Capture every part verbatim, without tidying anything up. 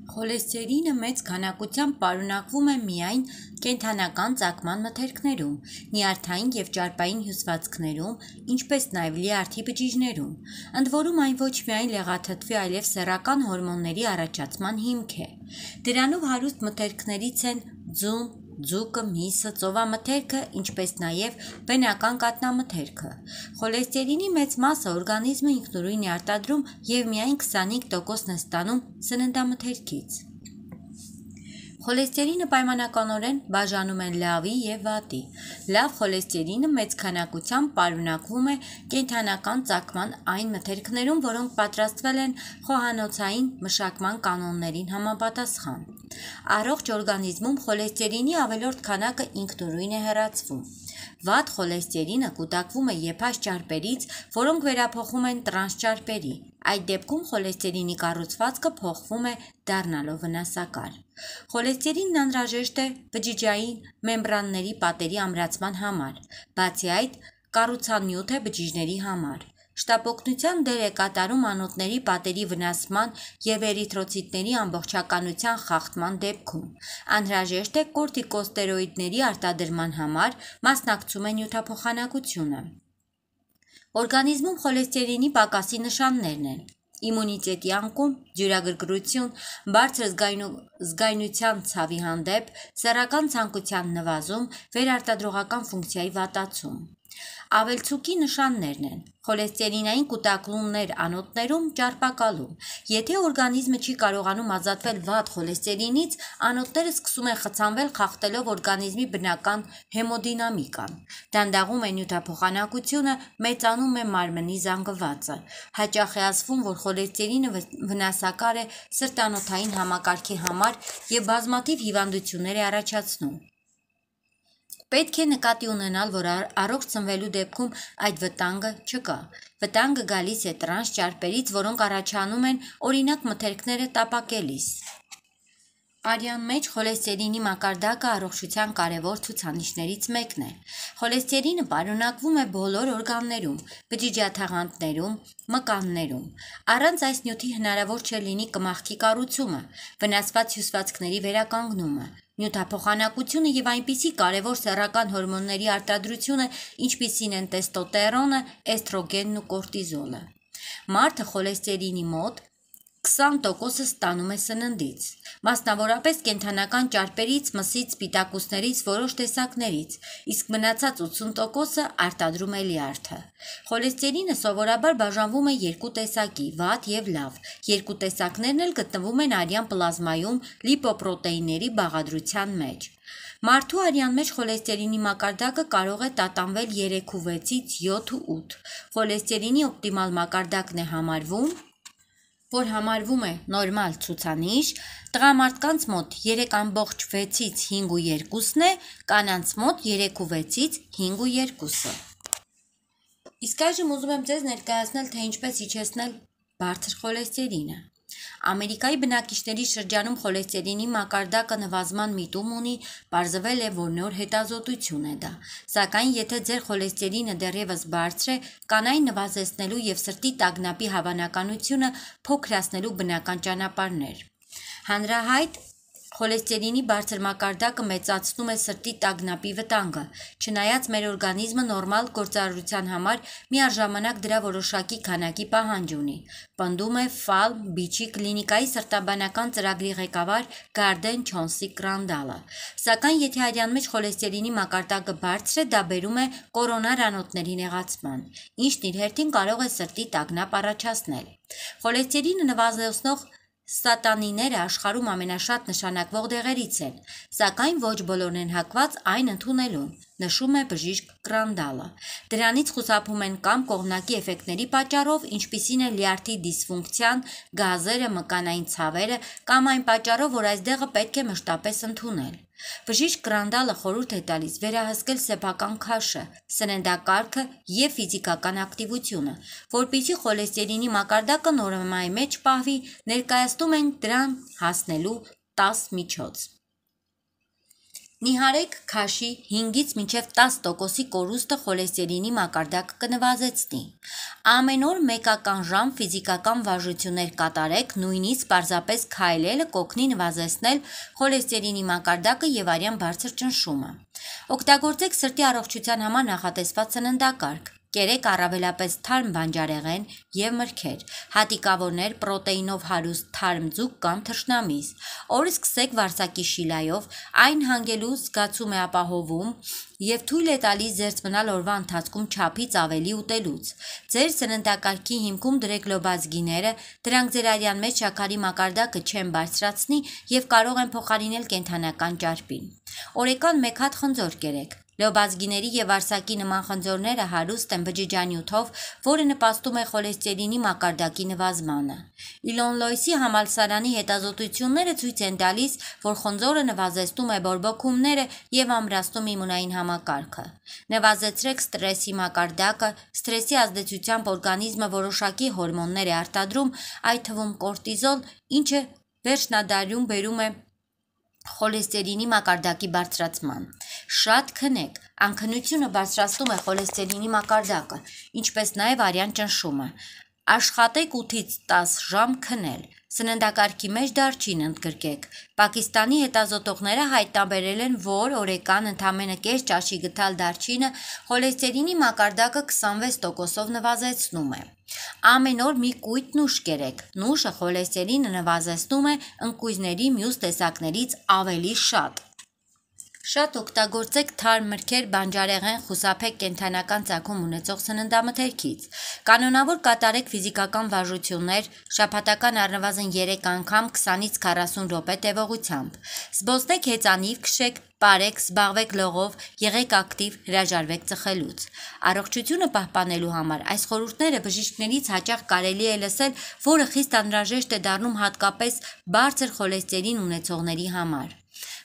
Խոլեստերինը մեծ քանակությամբ պարունակվում է միայն կենդանական ծագման մթերքներում, նյարդային և ճարպային հյուսվածքներում, ինչպես նաև լյարդի բջիջներում, ընդ որում այն ոչ միայն լեղաթթվի, այլև սեռական հորմոնների առաջացման հիմք է։ Դրանով հարուստ մթերքներից են ձուն, ձուկը, միսը, ծովամթերքը, ինչպես նաև բնական կաթնամթերքը։ Խոլեստերինի մեծ մասը օրգանիզմը ինքնուրույն է արտադրում և միայն քսանհինգ տոկոսն է ստանում սննդամթերքից։ Խոլեստերինը պայմանականորեն բաժանում են լավի և վատի։ Լավ խոլեստերինը մեծ քանակությամբ պարունակվում է կենդանական ծագման այն մթերքներում, որոնք պատրաստվել են խոհանոցային մշակման կանոններին համապատասխան։ Առողջ օրգանիզմում խոլեստերինի ավելորդ քանակը ինքնուրույն է հեռացվում։ Վատ խոլեստերինը կուտակվում է եփած ճարպերից, որոնք վերափոխվում են տրանս ճարպերի։ Այդ դեպքում խոլեստերինի կառուցվածքը փոխվում է, դառնալով վնասակար։ Խոլեստերինն անհրաժեշտ է բջիջային մեմբրանների պատերի ամրացման համար, բացի այդ կառուցանյութ է բջիջների համար։ Շտապօգնության դեր է կատարում անոթների պատերի վնասման և էրիթրոցիտների ամբողջականության խախտման դեպքում։ Անհրաժեշտ է կորտիկոստերոիդների արտադրման համար, մասնակցում է նյութափոխանակությունը։ Օրգանիզմում խոլեստերինի պակասի նշաններն են. իմունիտետի անկում, ջրագրգռություն, բարձր զգայունության ցավի հանդեպ, սեռական ցանկության նվազում, վերարտադրողական ֆունկցիայի վատացում։ Ավելցուկի նշաններն են. խոլեստերինային կուտակումներ անոթներում, ճարպակալում։ Եթե օրգանիզմը չի կարողանում ազատվել վատ խոլեստերինից, անոթները սկսում են խցանվել, խախտելով օրգանիզմի բնական հեմոդինամիկան։ Դանդաղում է նյութափոխանակությունը, մեծանում է մարմնի զանգվածը։ Հաճախ է ասվում, որ խոլեստերինը վնասակար է սրտանոթային համակարգի համար և բազմաթիվ հիվանդություններ է առաջացնում։ Պետք է նկատի ունենալ, որ առողջ սնվելու դեպքում այդ վտանգը չկա։ Վտանգը գալիս է տրանս ճարպերից, որոնք առաջանում են օրինակ մթերքները տապակելիս։ Արյան մեջ խոլեստերինի մակարդակը առողջության կարևոր ցուցանիշներից մեկն է։ Խոլեստերինը պարունակվում է բոլոր օրգաններում, բջիջաթաղանթներում, մկաններում։ Առանց այս նյութի հնարավոր չէ լինի կմախքի կառուցումը, վնասված հյուսվածքների վերականգնումը, նյութափոխանակությունը և այնպիսի կարևոր սեռական հորմոնների արտադրությունը, ինչպիսին են տեստոտերոնը, էստրոգենն ու կորտիզոլը։ Մարդը խոլեստերինի մոտ քսան տոկոսը ստանում է սննդից, մասնավորապես կենդանական ճարպերից, մսից, սպիտակուցներից, որոշ տեսակներից, իսկ մնացած ութսուն տոկոսը արտադրում է լյարդը։ Խոլեստերինը սովորաբար բաժանվում է երկու տեսակի՝ վատ և լավ։ Երկու տեսակներն էլ գտնվում են արյան պլազմայում լիպոպրոտեինների բաղադրության մեջ։ Մարդու արյան մեջ խոլեստերինի մակարդակը կարող է տատանվել երեքուվեցից յոթ ու ութ։ Խոլեստերինի օպտիմալ մակարդակն է համարվում, որ համարվում է նորմալ ցուցանիշ, տղամարդկանց մոտ երեք ամբողջ վեցից հինգ ու երկուսն է, կանանց մոտ երեք ու վեցից հինգ ու երկուսը։ Իսկ այժմ ուզում եմ ձեզ ներկայացնել, թե ինչպես իջեցնել բարձր խոլեստերինը։ Ամերիկայի բնակիչների շրջանում խոլեստերինի մակարդակը նվազման միտում ունի, պարզվել է, որ նոր հետազոտություն է դա։ Սակայն եթե ձեր խոլեստերինը դեռևս բարձր է, կան այն նվազեցնելու և սրտի տագնապի հավանականությունը փոքրացնելու բնական ճանապարհներ։ Հանրահայտ խոլեստերինի բարձր մակարդակը մեծացնում է սրտի տագնապի վտանգը, չնայած մեր օրգանիզմը նորմալ գործարարության համար միառժամանակ դրա որոշակի քանակի պահանջ ունի, պնդում է Ֆալ Բիչի կլինիկայի սրտաբանական ծրագրի ղեկավար Գարդեն Չոնսի Կրանդալը։ Սակայն եթե արյան մեջ խոլեստերինի մակարդակը բարձր է, դա բերում է կորոնար անոթների նեղացման, ինչն իր հերթին կարող է սրտի տագնապ առաջացնել։ Խոլեստերինը նվազեցնող ստատինները աշխարհում ամենաշատ նշանակվող դեղերից են, սակայն ոչ բոլորն են հակված այն ընդունելուն, նշում է բժիշկ Կրանդալը։ Դրանից խուսափում են կամ կողմնակի էֆեկտների պատճառով, ինչպիսին է լյարդի դիսֆունկցիան, գազերը, մկանային ցավերը, կամ այն պատճառով, որ այս դեղը պետք է մշտապես ընդունել։ Բժիշկ Կրանդալը խորհուրդ է տալիս վերահսկել սեփական քաշը, սննդակարգը և ֆիզիկական ակտիվությունը, որպեսզի խոլեստերինի մակարդակը նորմայի մեջ պահվի, ներկայացնում ենք դրան հասնելու տաս միջոց։ Նիհարեք քաշի հինգից մինչև տաս տոկոսի կորուստը խոլեստերինի մակարդակը կնվազեցնի։ Ամեն օր մեկական ժամ ֆիզիկական վարժություններ կատարեք, նույնիսկ պարզապես քայլելը կօգնի նվազեցնել խոլեստերինի մակարդակը եւ արյան բարձր ճնշումը։ Օգտագործեք սրտի առողջության համար նախատեսված սննդակարգ։ Կերեք առավելապես թարմ բանջարեղեն եւ մրգեր, հատիկավորներ, պրոտեինով հարուստ թարմ ձուկ կամ թռչնամիս։ Օրը սկսեք վարսակի շիլայով, այն հանգելու զգացում է ապահովում եւ թույլ է տալիս զերծ մնալ օրվա ընթացքում չափից ավելի ուտելուց։ Ձեր սննդակարգի հիմքում դրեք լոբազգիները, դրանք ձեր արյան մեջ շաքարի մակարդակը չեն բարձրացնի եւ կարող են փոխարինել կենդանական ճարպին։ Օրեկան մեկ հատ խնձոր կերեք։ Լոբազգիների եւ արսակի նման խնձորները հարուստ են բջջանյութով, որը նպաստում է խոլեստերինի մակարդակի նվազմանը։ Իլոնլոյսի համալսարանի հետազոտությունները ցույց են տալիս, որ խնձորը նվազեցնում է բորբոքումները եւ ամրացնում իմունային համակարգը։ Նվազեցրեք ստրեսի մակարդակը, ստրեսի ազդեցությամբ օրգանիզմը որոշակի հորմոններ է արտադրում, այդ թվում կորտիզոլ, ինչը վերջնադարում բերում է խոլեստերինի մակարդակի բարձրացման։ Շատ քնեք, անքնությունը բարձրացնում է խոլեստերինի մակարդակը, ինչպես նաև արյան ճնշումը։ Աշխատեք ութից տաս ժամ քնել։ Սննդակարգի մեջ դարչին ընդգրկեք։ Պակիստանի հետազոտողները հայտնաբերել են, որ օրեկան ընդամենը կես ճաշի գթալ դարչինը խոլեստերինի մակարդակը քսանվեց տոկոսով նվազեցնում է։ Ամեն օր մի կույտ նուշ կերեք։ Նուշը խոլեստերինը նվազեցնում է ընկույզների մյուս տեսակներից ավելի շատ։ Շատ օգտագործեք թարմ մրգեր, բանջարեղեն, խուսափեք կենդանական ծագում ունեցող սննդամթերքից։ Կանոնավոր կատարեք ֆիզիկական վարժություններ, շաբաթական առնվազն երեք անգամ քսանից քառասուն րոպե տևողությամբ։ Զբոսնեք հեծանիվ, քշեք, պարեք, զբաղվեք լողով, եղեք ակտիվ, հրաժարվեք ծխելուց։ Առողջությունը պահպանելու համար այս խորհուրդները բժիշկներից հաճախ կարելի է լսել, որը խիստ անհրաժեշտ է դառնում հատկապես բարձր խոլեստերին ունեցողների համար։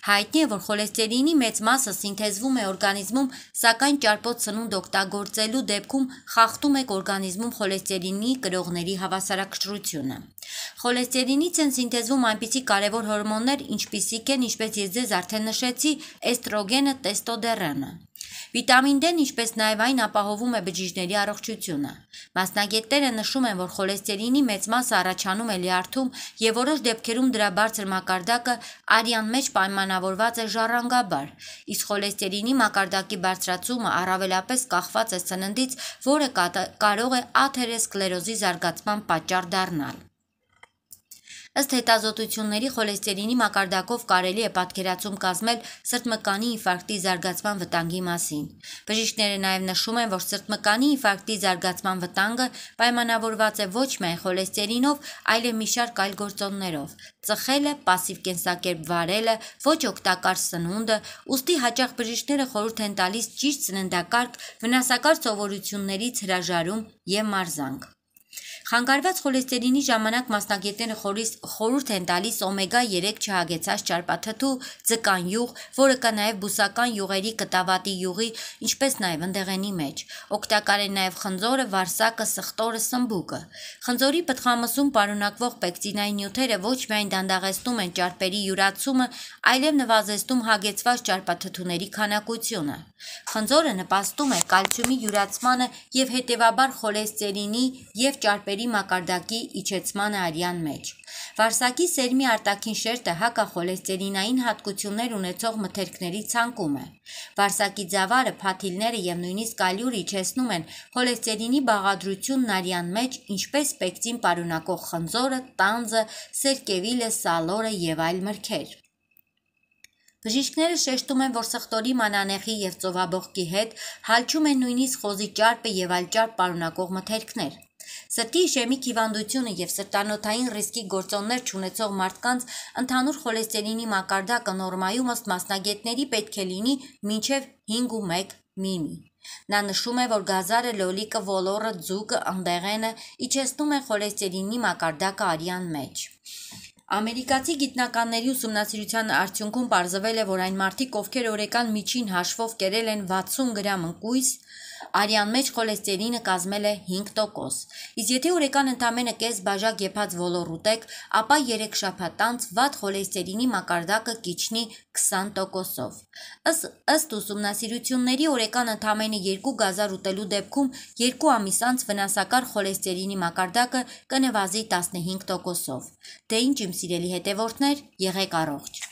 Հայտնի է, որ խոլեստերինի մեծ մասը սինթեզվում է օրգանիզմում, սակայն ճարպոտ սնունդ օգտագործելու դեպքում խախտում եք օրգանիզմում խոլեստերինի կրողների հավասարակշռությունը։ Խոլեստերինից են սինթեզվում այնպիսի կարևոր հորմոններ, ինչպիսիք են, ինչպես ես ձեզ արդեն նշեցի, էստրոգենը, տեստոստերոնը։ Վիտամին D-ն, ինչպես նաև այն ապահովում է բջիջների առողջությունը։ Մասնագետները նշում են, որ խոլեստերինի մեծ մասը առաջանում է լյարդում եւ որոշ դեպքերում դրա բարձր մակարդակը արյան մեջ պայմանավորված է ժառանգաբար, իսկ խոլեստերինի մակարդակի բարձրացումը առավելապես կախված է սննդից, որը կարող է աթերոսկլերոզի զարգացման պատճառ դառնալ։ Ըստ հետազոտությունների խոլեստերինի մակարդակով կարելի է պատկերացում կազմել սրտմկանի ինֆարկտի զարգացման վտանգի մասին։ Բժիշկները նաև նշում են, որ սրտմկանի ինֆարկտի զարգացման վտանգը պայմանավորված է ոչ միայն խոլեստերինով, այլև մի շարք այլ գործոններով՝ ծխելը, պասիվ կենսակերպ վարելը, ոչ օգտակար սնունդը, ուստի հաճախ բժիշկները խորհուրդ են տալիս ճիշտ սննդակարգ, վնասակար սովորություններից հրաժարում եւ մարզանք։ Խանգարված խոլեստերինի ժամանակ մասնագետները խորհուրդ են տալիս օմեգա երեք չհագեցած ճարպաթթու, ձկան յուղ, որը կա նաև բուսական յուղերի, կտավատի յուղի, ինչպես նաև ընդեղենի մեջ։ Օգտակար են նաև խնձորը, վարսակը, սխտորը, սմբուկը։ Խնձորի պտղամսում պարունակվող պեկտինային նյութերը ոչ միայն դանդաղեցնում են ճարպերի յուրացումը, այլև նվազեցնում հագեցված ճարպաթթուների քանակությունը։ Խնձորը նպաստում է կալցիումի յուրացմանը եւ հետեւաբար խոլեստերինի եւ ճարպերի մակարդակի իջեցմանը արյան մեջ։ Վարսակի սերմի արտաքին շերտը հակախոլեստերինային հատկություններ ունեցող մթերքների ցանկում է։ Վարսակի ձավարը, փաթիլները եւ նույնիսկ ալյուրը իջեցնում են խոլեստերինի բաղադրությունն արյան մեջ, ինչպես պեկտին պարունակող խնձորը, տանձը, սերկևիլը, սալորը եւ այլ մրգեր։ Բժիշկները շեշտում են, որ սխտորի, մանանեխի եւ ծովաբողկի հետ հալչում են նույնիսկ խոզի ճարպը եւ այլ ճարպ պարունակող մթերքներ։ Սրտի իշեմիկ հիվանդությունը եւ սրտանոթային ռիսկի գործոններ չունեցող մարդկանց ընդհանուր խոլեստերինի մակարդակը նորմայում ըստ մասնագետների պետք է լինի մինչեւ հինգ ու մեկ միմի։ Նա նշում է, որ գազարը, լոլիկը, ոլորը, ձուկը, ընդեղենը իջեցնում են խոլեստերինի մակարդակը արյան մեջ։ Ամերիկացի գիտնականների ուսումնասիրության արդյունքում պարզվել է, որ այն մարդիկ, ովքեր օրեկան միջին հաշվով կերել են վաթսուն գրամ ընկույզ, արյան մեջ խոլեստերինը կազմել է հինգ տոկոս։ Իսկ եթե օրեկան ընդամենը կես բաժակ եփած ոլոր ուտեք, ապա երեք շաբաթ անց վատ խոլեստերինի մակարդակը կիջնի քսան տոկոսով։ Ըստ ուսումնասիրությունների օրական ընդամենը երկու գազար ուտելու դեպքում երկու ամիս անց վնասակար խոլեստերինի մակարդակը կնվազի տասնհինգ տոկոսով։ Դե ինչ իմ սիրելի հետևորդներ, եղեք առողջ։